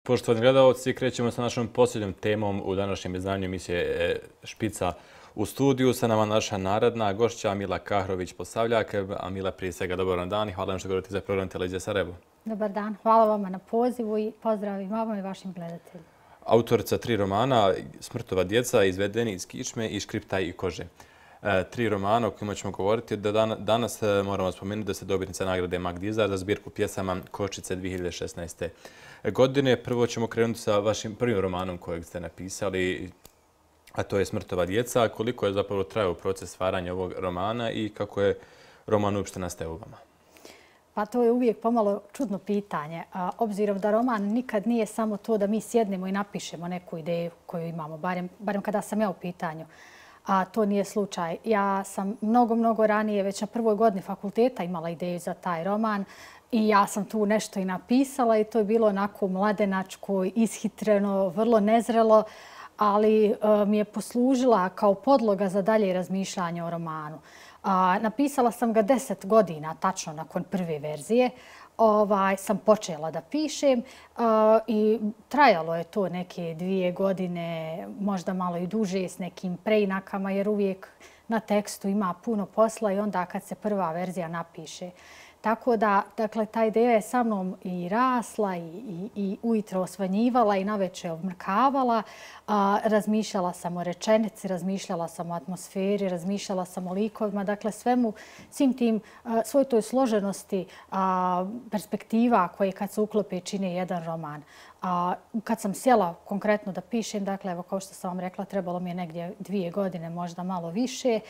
Poštovani gledalci, krećemo sa našom posljednjom temom u današnjem izdanju emisije Špica u studiju. Sa nama naša naredna gošća Mila Kahrović-Posavljak. A Mila, prije svega dobar dan i hvala vam što govorite za program Televizije Sarajevo. Dobar dan, hvala vama na pozivu i pozdrav i vama i vašim gledateljima. Autorica 3 romana, Smrtova djeca, Izvedeni iz kičme i Škriptaj i kože. 3 romana o kojima ćemo govoriti. Danas moramo spomenuti da ste dobitnica nagrade Mag Dizar za zbirku pjesama Kočice 2016. godine. Prvo ćemo krenuti sa vašim prvim romanom kojeg ste napisali, a to je Smrtova djeca. Koliko je zapravo trajao proces stvaranja ovog romana i kako je roman uopšte nastao u vama? Pa to je uvijek pomalo čudno pitanje, obzirom da roman nikad nije samo to da mi sjednemo i napišemo neku ideju koju imamo, barem kada sam ja u pitanju. A to nije slučaj. Ja sam mnogo ranije, već na prvoj godini fakulteta imala ideju za taj roman i ja sam tu nešto i napisala i to je bilo onako mladenačko, ishitreno, vrlo nezrelo, ali mi je poslužila kao podloga za dalje razmišljanje o romanu. Napisala sam ga 10 godina, tačno nakon prve verzije. Sam počela da pišem i trajalo je to neke 2 godine, možda malo i duže s nekim preinakama jer uvijek na tekstu ima puno posla i onda kad se prva verzija napiše. Tako da, dakle, ta ideja je sa mnom i rasla i ujutro osvanjivala i naveče obmrkavala. Razmišljala sam o rečenici, razmišljala sam o atmosferi, razmišljala sam o likovima. Dakle, svim tim, svoj toj složenosti perspektiva koje kad se uklope čine jedan roman. Kad sam sjela konkretno da pišem, dakle, evo kao što sam vam rekla, trebalo mi je negdje 2 godine, možda malo više,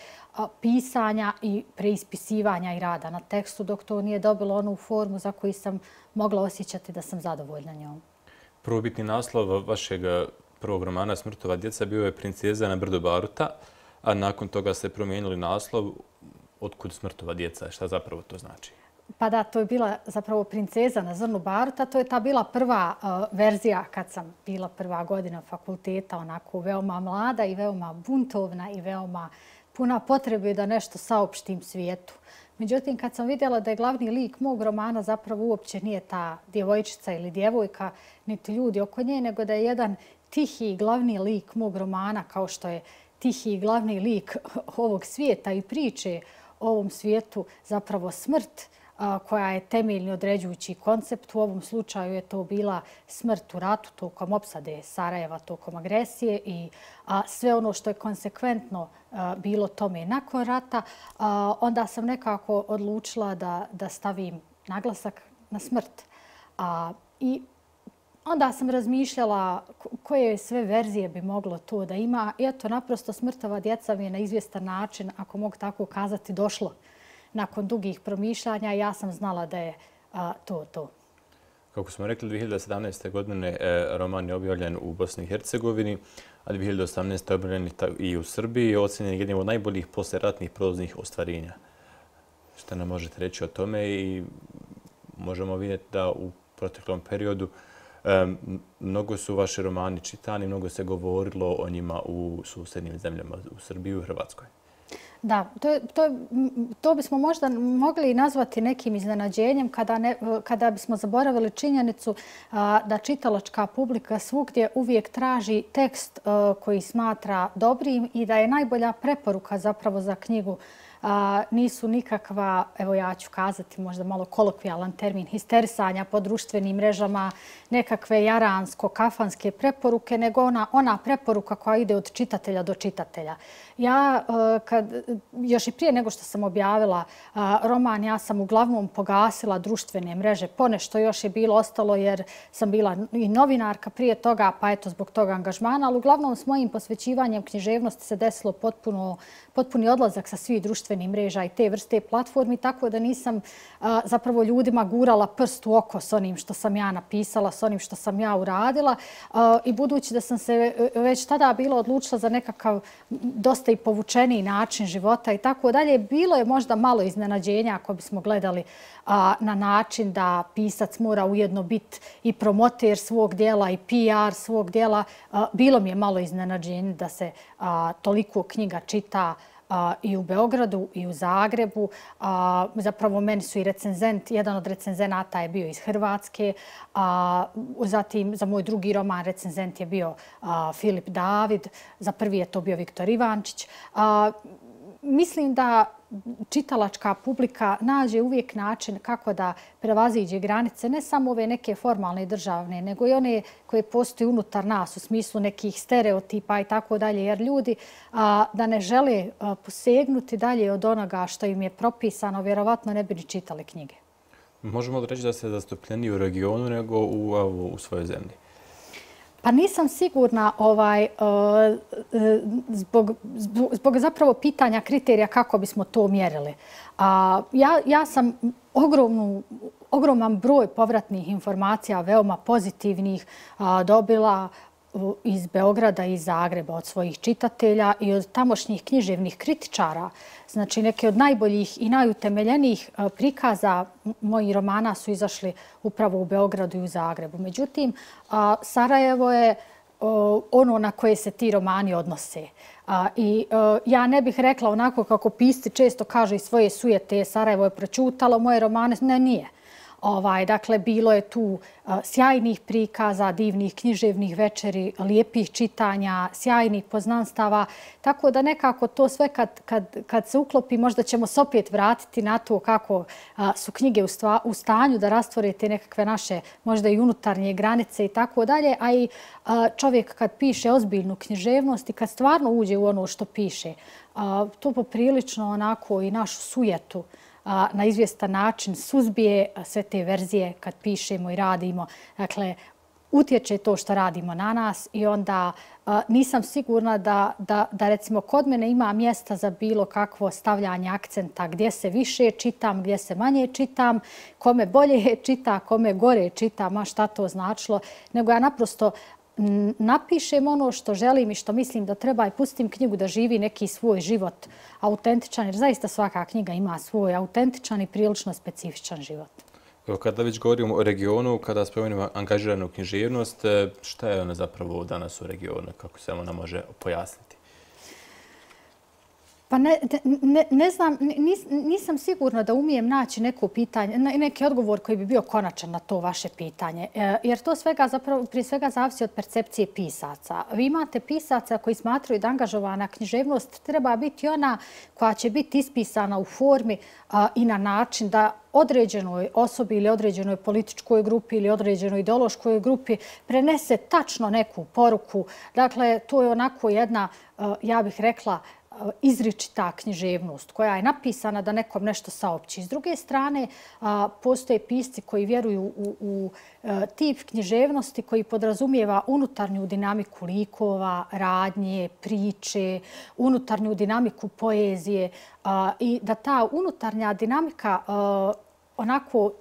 pisanja i preispisivanja i rada na tekstu, dok to nije dobilo onu formu za koju sam mogla osjećati da sam zadovoljna njom. Prvobitni naslov vašeg prvog romana Smrtova djeca bio je Princeza na brdu Baruta, a nakon toga ste promijenili naslov Otkud Smrtova djeca? Šta zapravo to znači? Pa da, to je bila zapravo Princeza na zrnu baruta. To je ta bila prva verzija kad sam bila prva godina fakulteta, onako veoma mlada i veoma buntovna i veoma puna potrebe da nešto saopštim svijetu. Međutim, kad sam vidjela da je glavni lik mog romana zapravo uopće nije ta djevojčica ili djevojka, niti ljudi oko nje, nego da je jedan tihi glavni lik mog romana, kao što je tihi glavni lik ovog svijeta i priče o ovom svijetu, zapravo smrt, koja je temeljni određujući koncept. U ovom slučaju je to bila smrt u ratu tokom opsade Sarajeva, tokom agresije i sve ono što je konsekventno bilo tome nakon rata. Onda sam nekako odlučila da stavim naglasak na smrt. I onda sam razmišljala koje sve verzije bi moglo to da ima. I eto, naprosto Smrtova djeca mi je na izvjestan način, ako mogu tako kazati, došlo. Nakon dugih promišljanja ja sam znala da je to. Kako smo rekli, 2017. godine roman je objavljen u Bosni i Hercegovini, a 2018. je objavljen i u Srbiji i ocenjen jednim od najboljih poslijeratnih proznih ostvarenja. Šta nam možete reći o tome? I možemo vidjeti da u proteklom periodu mnogo su vaši romani čitani, mnogo se govorilo o njima u susjednim zemljama, u Srbiji i u Hrvatskoj. Da, to bismo možda mogli nazvati nekim iznenađenjem kada bismo zaboravili činjenicu da čitalačka publika svugdje uvijek traži tekst koji smatra dobrim i da je najbolja preporuka zapravo za knjigu nisu nikakva, evo ja ću kazati možda malo kolokvijalan termin, histerisanja po društvenim mrežama, nekakve jaransko-kafanske preporuke, nego ona preporuka koja ide od čitatelja do čitatelja. Ja, još i prije nego što sam objavila roman, ja sam uglavnom pogasila društvene mreže. Ponešto još je bilo ostalo jer sam bila i novinarka prije toga, pa eto zbog toga angažmana, ali uglavnom s mojim posvećivanjem književnosti se desilo potpuni odlazak sa svih društvenih mreža i te vrste platformi, tako da nisam zapravo ljudima gurala prst u oko s onim što sam ja napisala, s onim što sam ja uradila. I budući da sam se već tada bila odlučila za nekakav dosta i povučeniji način života i tako dalje, bilo je možda malo iznenađenja ako bismo gledali na način da pisac mora ujedno biti i promoter svog djela i PR svog djela. Bilo mi je malo iznenađenje da se toliko knjiga čita i u Beogradu i u Zagrebu. Zapravo meni su i jedan od recenzenata je bio iz Hrvatske. Zatim za moj drugi roman recenzent je bio Filip David. Za prvi je to bio Viktor Ivančić. Mislim da čitalačka publika nađe uvijek način kako da prevaziđe granice, ne samo ove neke formalne i državne, nego i one koje postoje unutar nas u smislu nekih stereotipa i tako dalje, jer ljudi da ne žele posegnuti dalje od onoga što im je propisano, vjerovatno ne bi ni čitali knjige. Možemo li reći da ste zastupljeniji u regionu nego u svojoj zemlji? Pa nisam sigurna zbog zapravo pitanja kriterija kako bismo to mjerili. Ja sam ogroman broj povratnih informacija, veoma pozitivnih, dobila iz Beograda i Zagreba od svojih čitatelja i od tamošnjih književnih kritičara. Znači, neke od najboljih i najutemeljenijih prikaza mojih romana su izašli upravo u Beogradu i u Zagrebu. Međutim, Sarajevo je ono na koje se ti romani odnose. I ja ne bih rekla onako kako pisci često kažu iz svoje sujete Sarajevo je proćutalo moje romane. Ne, nije. Dakle, bilo je tu sjajnih prikaza, divnih književnih večeri, lijepih čitanja, sjajnih poznanstava. Tako da nekako to sve kad se uklopi, možda ćemo se opet vratiti na to kako su knjige u stanju da rastvore te nekakve naše možda i unutarnje granice i tako dalje. A i čovjek kad piše ozbiljnu književnost i kad stvarno uđe u ono što piše, to poprilično onako i našu sujetu na izvjestan način suzbije sve te verzije kad pišemo i radimo. Dakle, utječe to što radimo na nas i onda nisam sigurna da recimo kod mene ima mjesta za bilo kakvo stavljanje akcenta gdje se više čitam, gdje se manje čitam, kome bolje čita, kome gore čita, ma šta to značilo, nego ja naprosto napišem ono što želim i što mislim da treba i pustim knjigu da živi neki svoj život autentičan, jer zaista svaka knjiga ima svoj autentičan i prilično specifičan život. Evo, kada već govorimo o regionu, kada spomenemo angažiranu književnost, šta je ona zapravo danas u regionu? Kako se ona može pojasniti? Pa ne znam, nisam sigurna da umijem naći neko pitanje, neki odgovor koji bi bio konačan na to vaše pitanje. Jer to prije svega zavisi od percepcije pisaca. Vi imate pisaca koji smatraju da angažovana književnost treba biti ona koja će biti ispisana u formi i na način da određenoj osobi ili određenoj političkoj grupi ili određenoj ideološkoj grupi prenese tačno neku poruku. Dakle, to je onako jedna, ja bih rekla, izričita književnost koja je napisana da nekom nešto saopći. S druge strane, postoje pisci koji vjeruju u tip književnosti koji podrazumijeva unutarnju dinamiku likova, radnje, priče, unutarnju dinamiku poezije i da ta unutarnja dinamika onako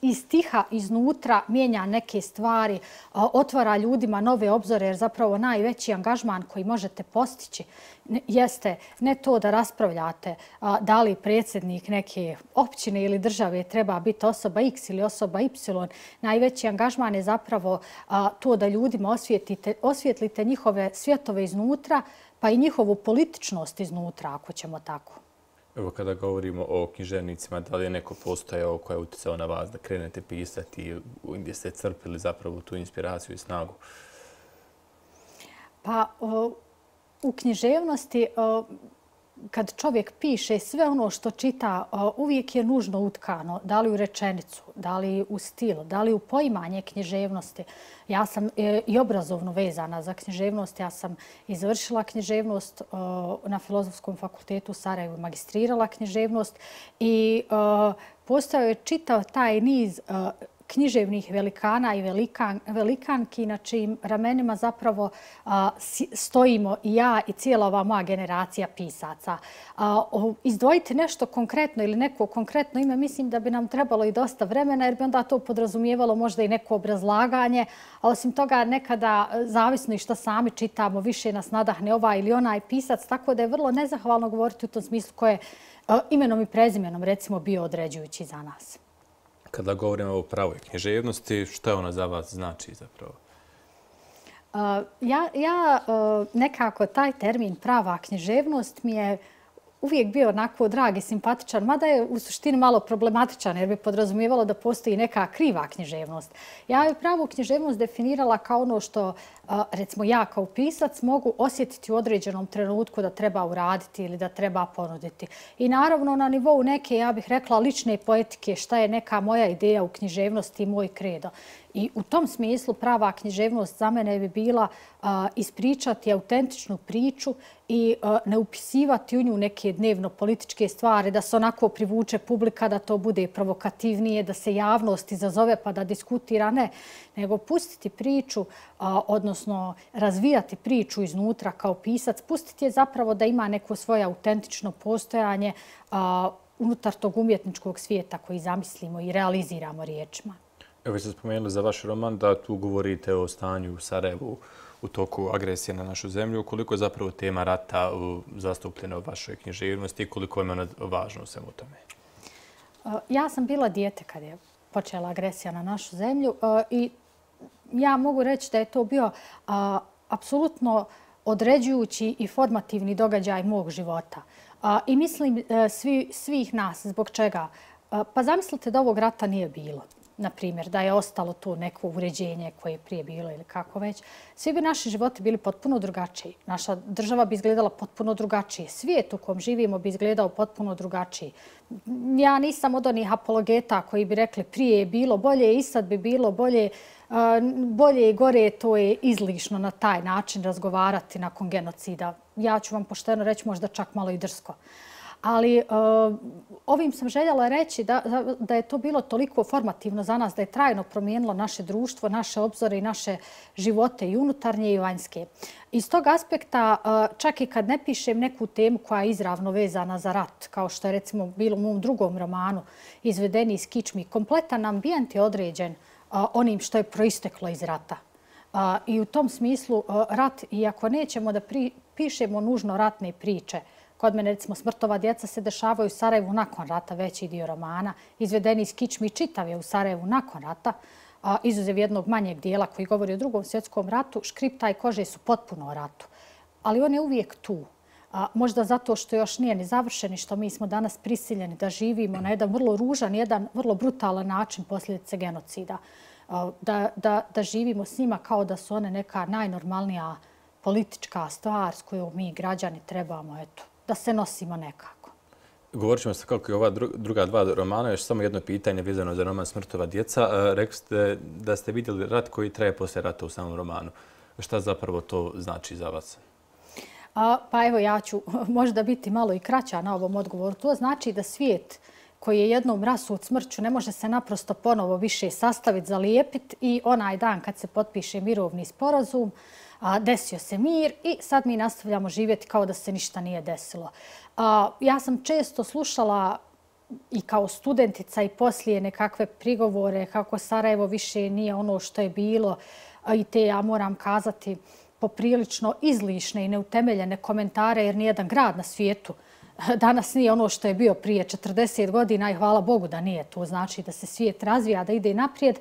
iz tiha, iznutra mijenja neke stvari, otvara ljudima nove obzore, jer zapravo najveći angažman koji možete postići jeste ne to da raspravljate da li predsjednik neke općine ili države treba biti osoba X ili osoba Y. Najveći angažman je zapravo to da ljudima osvijetlite njihove svjetove iznutra, pa i njihovu političnost iznutra, ako ćemo tako. Evo, kada govorimo o književnicima, da li je neko postojao koji je utjecao na vas da krenete pisati, gdje ste crpili zapravo tu inspiraciju i snagu? Pa u književnosti, kad čovjek piše, sve ono što čita uvijek je nužno utkano, da li u rečenicu, da li u stil, da li u poimanje književnosti. Ja sam i obrazovno vezana za književnost. Ja sam i završila književnost na Filozofskom fakultetu u Sarajevu, magistrirala književnost i postojao je čitav taj niz književnih velikana i velikanki na čijim ramenima zapravo stojimo i ja i cijela ova moja generacija pisaca. Izdvojiti nešto konkretno ili neko konkretno ime, mislim da bi nam trebalo i dosta vremena, jer bi onda to podrazumijevalo možda i neko obrazlaganje. A osim toga, nekada, zavisno i što sami čitamo, više nas nadahne ovaj ili onaj pisac, tako da je vrlo nezahvalno govoriti u tom smislu ko je imenom i prezimenom, recimo, bio određujući za nas. Kada govorimo o pravoj književnosti, što ona za vas znači zapravo? Ja nekako taj termin prava književnost mi je uvijek bio onako drag i simpatičan, mada je u suštini malo problematičan jer bi podrazumijevalo da postoji neka kriva književnost. Ja je pravu književnost definirala kao ono što, recimo ja kao pisac, mogu osjetiti u određenom trenutku da treba uraditi ili da treba ponuditi. I naravno na nivou neke, ja bih rekla, lične poetike, šta je neka moja ideja u književnosti i moj kredo. I u tom smislu prava književnost za mene bi bila ispričati autentičnu priču i ne upisivati u nju neke dnevno-političke stvari, da se onako privuče publika, da to bude provokativnije, da se javnost izazove pa da diskutira. Ne, nego pustiti priču, odnosno razvijati priču iznutra kao pisac, pustiti je zapravo da ima neko svoje autentično postojanje unutar tog umjetničkog svijeta koji zamislimo i realiziramo riječima. Evo, vi ste spomenuli za vaš roman da tu govorite o stanju u Sarajevu u toku agresije na našu zemlju. Koliko je zapravo tema rata zastupljena u vašoj književnosti i koliko je ona važna u svemu tome? Ja sam bila dijete kad je počela agresija na našu zemlju i ja mogu reći da je to bio apsolutno određujući i formativni događaj mog života. I mislim svih nas. Zbog čega? Pa zamislite da ovog rata nije bilo. Na primjer, da je ostalo tu neko uređenje koje je prije bilo ili kako već, svi bi naši životi bili potpuno drugačiji. Naša država bi izgledala potpuno drugačije. Svijet u kom živimo bi izgledao potpuno drugačiji. Ja nisam od onih apologeta koji bi rekli prije je bilo bolje i sad bi bilo bolje. Bolje i gore, to je izlišno na taj način razgovarati nakon genocida. Ja ću vam pošteno reći možda čak malo i drsko. Ali ovim sam željela reći da je to bilo toliko formativno za nas, da je trajno promijenilo naše društvo, naše obzore i naše živote i unutarnje i vanjske. Iz tog aspekta, čak i kad ne pišem neku temu koja je izravno vezana za rat, kao što je recimo bilo u mom drugom romanu Izvedeni iz kičmi, kompletan ambijent je određen onim što je proisteklo iz rata. I u tom smislu rat, iako nećemo da pišemo nužno ratne priče, kod mene, recimo, Smrtova djeca se dešavaju u Sarajevu nakon rata, veći dio romana. Izvedeni iz kičmi čitav je u Sarajevu nakon rata, izuzev jednog manjeg dijela koji govori o Drugom svjetskom ratu. Škripta i kože su potpuno o ratu. Ali on je uvijek tu. Možda zato što još nije ni završen i što mi smo danas prisiljeni da živimo na jedan vrlo ružan, jedan vrlo brutalan način posljedice genocida. Da živimo s njima kao da su one neka najnormalnija politička stvar s kojom mi građani trebamo, da se nosimo nekako. Govorit ćemo se kako je ova druga dva romana. Još samo jedno pitanje vezano za roman Smrtova djeca. Rekli ste da ste vidjeli rat koji traje poslije rata u samom romanu. Šta zapravo to znači za vas? Pa evo, ja ću možda biti malo i kraća na ovom odgovoru. To znači da svijet koji je jednom rasut smrću ne može se naprosto ponovo više sastaviti, zalijepiti i onaj dan kad se potpiše mirovni sporazum, desio se mir i sad mi nastavljamo živjeti kao da se ništa nije desilo. Ja sam često slušala i kao studentica i poslije nekakve prigovore kako Sarajevo više nije ono što je bilo i te, ja moram kazati, poprilično izlišne i neutemeljene komentare jer nijedan grad na svijetu danas nije ono što je bio prije 40 godina i hvala Bogu da nije. To znači da se svijet razvija, da ide naprijed,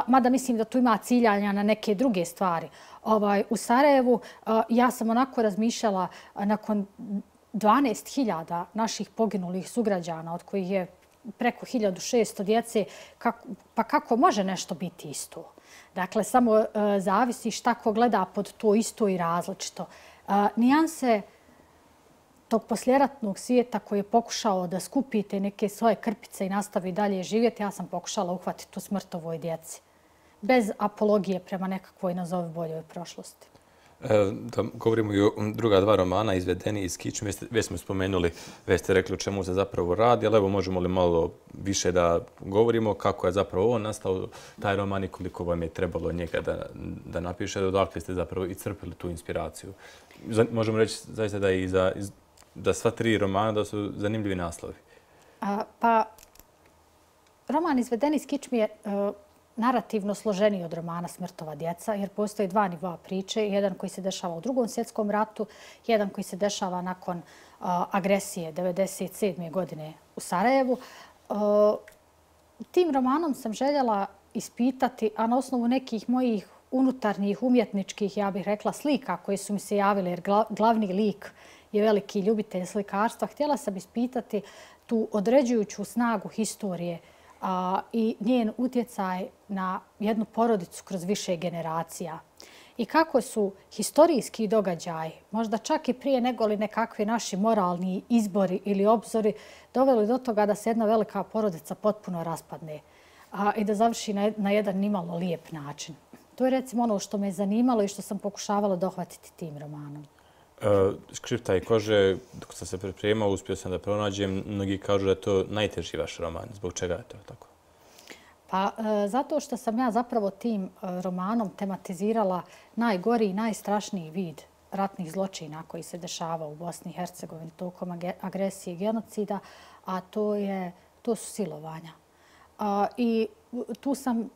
mada mislim da tu ima ciljanja na neke druge stvari. U Sarajevu ja sam onako razmišljala nakon 12.000 naših poginulih sugrađana, od kojih je preko 1600 djece, pa kako može nešto biti isto? Dakle, samo zavisi šta ko gleda pod to isto i različito. Nijanse tog posljeratnog svijeta koji je pokušao da skupite neke svoje krpice i nastavi dalje živjeti, ja sam pokušala uhvatiti u Smrtovoj djeci. Bez apologije prema nekakvoj nazovi boljoj prošlosti. Da govorimo i o druga dva romana, Izvedeni iz kičme. Već smo spomenuli, već ste rekli o čemu se zapravo radi, ali evo možemo li malo više da govorimo kako je zapravo on nastao, taj roman i koliko vam je trebalo njega da napišete, odakle ste zapravo iscrpili tu inspiraciju. Možemo reći zaista da i da sva tri romana da su zanimljivi naslovi. Pa, roman Izvedeni iz kičme je narativno složeniji od romana Smrtova djeca, jer postoji dva nivoa priče. Jedan koji se dešava u Drugom svjetskom ratu, jedan koji se dešava nakon agresije 1997. godine u Sarajevu. Tim romanom sam željela ispitati, a na osnovu nekih mojih unutarnjih umjetničkih, ja bih rekla, slika koje su mi se javile, jer glavni lik je veliki ljubitelj slikarstva. Htjela sam ispitati tu određujuću snagu historije i njen utjecaj na jednu porodicu kroz više generacija. I kako su historijski događaji, možda čak i prije nego li nekakvi naši moralni izbori ili obzori, doveli do toga da se jedna velika porodica potpuno raspadne i da završi na jedan nimalo lijep način. To je recimo ono što me je zanimalo i što sam pokušavala dohvatiti tim romanom. Škripta i kože, dok sam se pripremao, uspio sam da pronađem. Mnogi kažu da je to najteži vaš roman. Zbog čega je to tako? Pa zato što sam ja zapravo tim romanom tematizirala najgori i najstrašniji vid ratnih zločina koji se dešava u Bosni i Hercegovini tokom agresije i genocida, a to su silovanja. I tu sam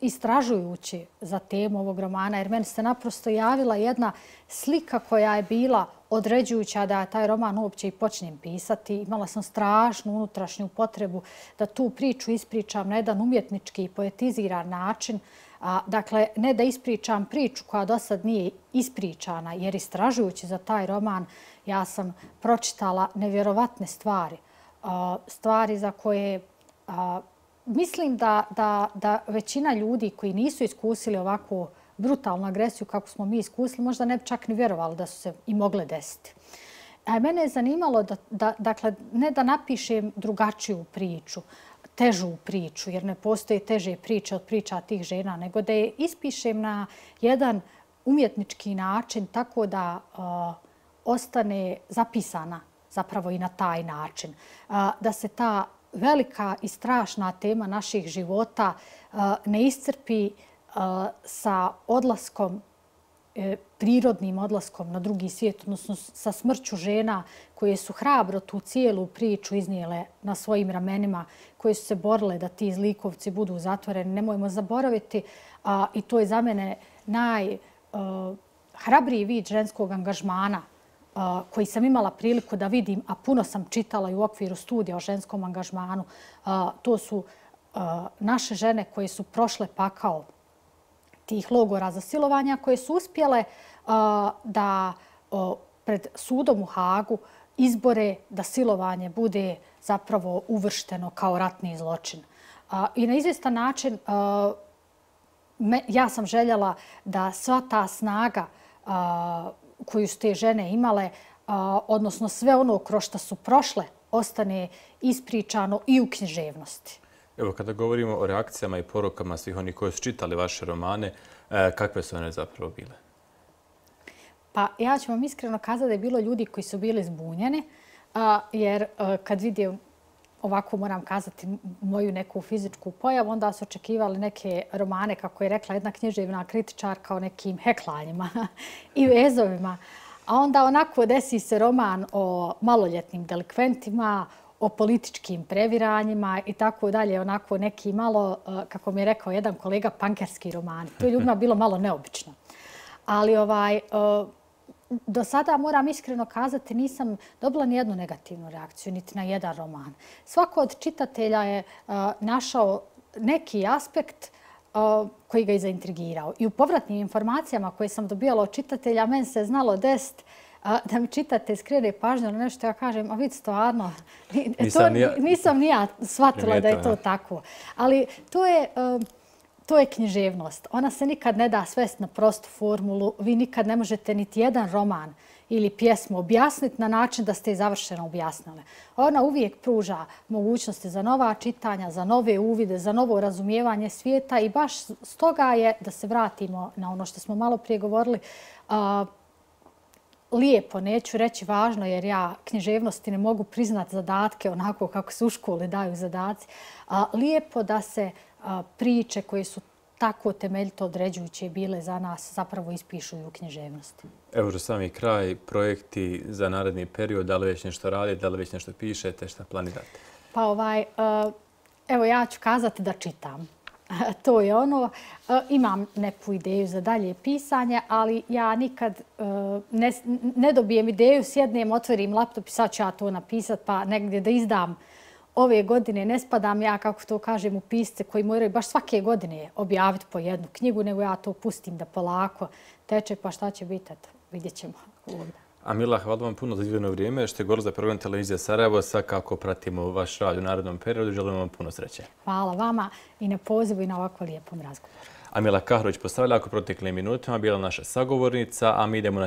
istražujući za temu ovog romana, jer meni se naprosto javila jedna slika koja je bila određujuća da taj roman uopće i počnem pisati. Imala sam strašnu unutrašnju potrebu da tu priču ispričam na jedan umjetnički i poetiziran način. Dakle, ne da ispričam priču koja do sad nije ispričana, jer istražujući za taj roman ja sam pročitala nevjerovatne stvari. Stvari za koje mislim da većina ljudi koji nisu iskusili ovakvu brutalnu agresiju kako smo mi iskusili, možda ne bi čak ni vjerovali da su se i mogle desiti. Mene je zanimalo dakle, ne da napišem drugačiju priču, težu priču, jer ne postoje teže priče od priča tih žena, nego da je ispišem na jedan umjetnički način tako da ostane zapisana zapravo i na taj način. Da se ta velika i strašna tema naših života ne iscrpi sa odlaskom, prirodnim odlaskom na drugi svijet, odnosno sa smrću žena koje su hrabro tu cijelu priču iznijele na svojim ramenima, koje su se borile da ti zlikovci budu zatvoreni. Nemojmo zaboraviti, i to je za mene najhrabriji vid ženskog angažmana koji sam imala priliku da vidim, a puno sam čitala i u okviru studija o ženskom angažmanu. To su naše žene koje su prošle pakao tih logora za silovanja, koje su uspjele da pred sudom u Hagu izbore da silovanje bude zapravo uvršteno kao ratni zločin. I na izvjestan način ja sam željela da sva ta snaga koju su te žene imale, odnosno sve ono kroz što su prošle, ostane ispričano i u književnosti. Evo, kada govorimo o reakcijama i porukama svih onih koji su čitali vaše romane, kakve su one zapravo bile? Pa ja ću vam iskreno kazati da je bilo ljudi koji su bili zbunjeni, jer kad vidim ovako, moram kazati, moju neku fizičku pojavu, onda su očekivali neke romane, kako je rekla jedna književna kritičarka, o nekim heklanjima i vezovima. A onda onako desi se roman o maloljetnim delikventima, o političkim previranjima i tako dalje. Onako neki malo, kako mi je rekao jedan kolega, pankerski roman. To je ljudima bilo malo neobično. Ali do sada, moram iskreno kazati, nisam dobila ni jednu negativnu reakciju, niti na jedan roman. Svako od čitatelja je našao neki aspekt koji ga je zaintrigirao. I u povratnim informacijama koje sam dobijala od čitatelja, meni se znalo desiti da mi čitatelj skrene pažnju na nešto, ja kažem, a vidi stvarno, nisam ni ja shvatila da je to tako. Ali to je književnost. Ona se nikad ne da svesti na prostu formulu. Vi nikad ne možete niti jedan roman ili pjesmu objasniti na način da ste je završeno objasnili. Ona uvijek pruža mogućnosti za nova čitanja, za nove uvide, za novo razumijevanje svijeta i baš stoga je, da se vratimo na ono što smo malo prije govorili, lijepo, neću reći važno, jer ja književnosti ne mogu priznati zadatke onako kako se u školi daju zadaci. Lijepo da se priče koje su tako temeljito određujuće bile za nas zapravo ispišu i u književnosti. Evo za sami kraj, projekti za naredni period, da li već nešto radite, da li već nešto pišete, šta planirate? Pa evo ja ću kazati da čitam. To je ono. Imam neku ideju za dalje pisanje, ali ja nikad ne dobijem ideju, sjednem, otvorim laptop i sad ću ja to napisati, pa negdje da izdam ove godine ne spadam ja, kako to kažem, u pisce koji moraju baš svake godine objaviti po jednu knjigu, nego ja to pustim da polako teče, pa šta će biti, eto, vidjet ćemo ovdje. Amila, hvala vam puno za izdvojeno vrijeme što je govorila za program Televizija Sarajevo. Svakako pratimo vaš rad u narednom periodu. Želim vam puno sreće. Hvala vama i na pozivu i na ovako lijepom razgovoru. Amila Kahrović postavlja ako proteklim minutima bila naša sagovornica, a mi idemo na